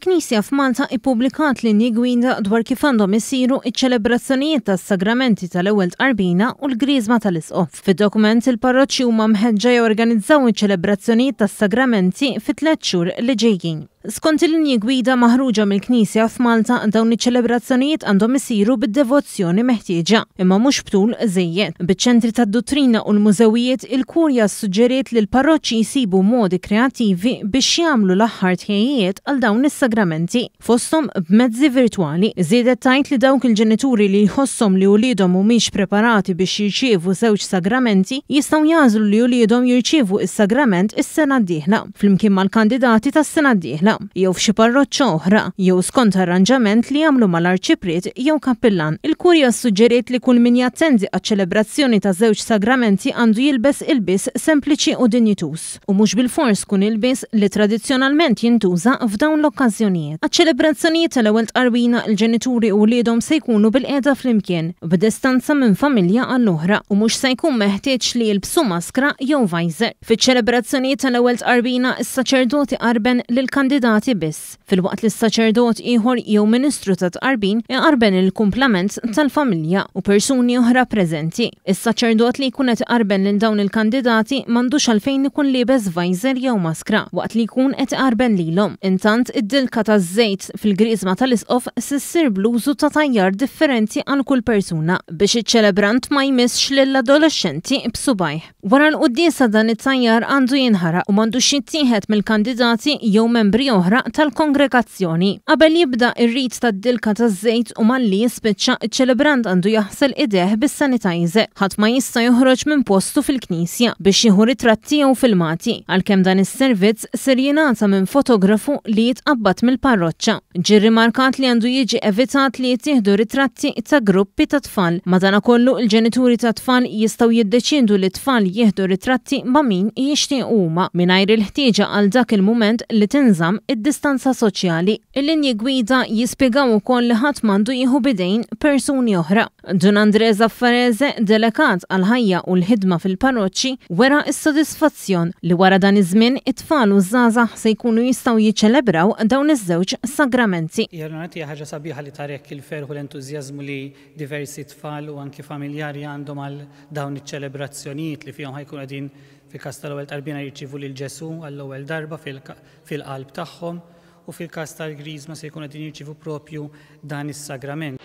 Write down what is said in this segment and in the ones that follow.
Il-Knisja f'Malta ippubblikat linji gwida dwar kif għandhom isiru ċ-ċelebrazzjonijiet tas-sagramenti tal-Ewwel Tqarbina u l-Griżma tal-Isqof. Fid-dokument il-parroċċi huma mħeġġa jorganizzaw iċ-ċelebrazzjonijiet tas-sagramenti fit-tlett xhur li ġejjin. Skont il-linji gwida maħruġa mill-Knisja f'Malta, dawn iċ-ċelebrazzjonijiet għandhom isiru bid-devozzjoni meħtieġa, imma mhux b'tul żejjed. Biċ-ċentri tad-duttrina u l-mużewijiet, il-Kurja ssuġġeriet li l-parroċċi jsibu modi kreattivi biex jagħmlu l-aħħar tħejjijiet għal dawn is-sagramenti, fosthom b'mezzi virtwali. Żiedet tgħid li dawk il-ġenituri li jħosshom li uliedhom mhumiex preparati biex jirċievu żewġ sagramenti jistgħu jagħżlu li uliedhom jirċievu s-sagrament is-sena d-dieħla. flimkien mal-kandidati tas-sena d-dieħla, jew f'xi parroċċa oħra, jew skont arranġament li jagħmlu mal-arċipriet jew kappillan. Il-Kurja ssuġġeriet li kull min jattendi għaċ-ċelebrazzjoni ta' żewġ sagramenti għandu jilbes ilbies sempliċi u dinjituż, u mhux bilfors kun ilbies li tradizzjonalment jintuża f'dawn l-okkażjonijiet. Għaċ-ċelebrazzjonijiet tal-Ewwel Tqarbina, il-ġenituri u wliedhom se jkunu bilqiegħda flimkien, b'distanza minn familja għall-oħra, u mhux se jkun meħtieġ li jilbsu maskra jew visor. Fiċ-ċelebrazzjonijiet tal-Ewwel Tqarbina, is-saċerdot iqarben lill-kandidati biss, filwaqt li saċerdot ieħor jew ministru tat-tqarbin iqarben il-kumplament tal-familja u persuni oħra preżenti. Is-saċerdot li jkun qed iqarben lil dawn il-kandidati m'għandux għalfejn ikun liebes visor jew maskra waqt li jkun qed iqarben lilhom. Intant, id-dilka taż-żejt fil-griżma tal-isqof se ssir bl-użu ta' tajjar differenti għal kull persuna biex iċ-ċelebrant ma jmissx lill-adolexxenti b'subgħajh. Wara l-quddiesa dan it-tajjar għandu jinħaraq u m'għandux jittieħed mill-kandidati jew membri oħra tal-kongregazzjoni. Qabel jibda r-rit tad-dilka taż-żejt u malli jispiċċa, iċ-ċelebrant għandu jaħsel idejh bis-sanitizer. Ħadd ma jista' joħroġ minn postu fil-knisja biex jieħu ritratti jew filmati, għalkemm dan is-servizz ser jingħata minn fotografu li jitqabbad mill-parroċċa. Ġie rrimarkat li għandu jiġi evitat li jittieħdu ritratti ta' gruppi ta' tfal. Madankollu, il-ġenituri tat-tfal jistgħu jiddeċiedu li t-tfal jieħdu ritratti ma' min jixtiequ huma, mingħajr il-ħtieġa għal dak il-mument li tinżamm id-distanza soċjali. Il-linji gwida jispjegaw ukoll li ħadd m'għandu jieħu b'idejn persuni oħra. Dun André Zaffarese, delegat għall-ħajja u l-ħidma fil-parroċċi, wera s-sodisfazzjon li wara dan iż-żmien it-tfal u ż-żgħażagħ se jkunu jistgħu jiċċelebraw dawn iż-żewġ sagramenti. Hija hija ħaġa sabiħa li tara hekk il-ferħ u l-entużjażmu li diversi tfal u anki familjari għandhom għal dawn iċ-ċelebrazzjonijiet li fihom ħa jkunu qegħdin fil-każ tal-ewwel tqarbina jirċievu lil Ġesù għall-ewwel darba fil-qalb tagħhom u fil-każ tal-Griżma se jkunu qegħdin jirċievu propju dan is-sagrament.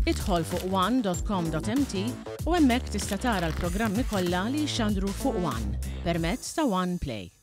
Idħol fuq one.com.mt u hemmhekk tista' tara l-programmi kollha li jixxandru fuq One permezz ta' One Play.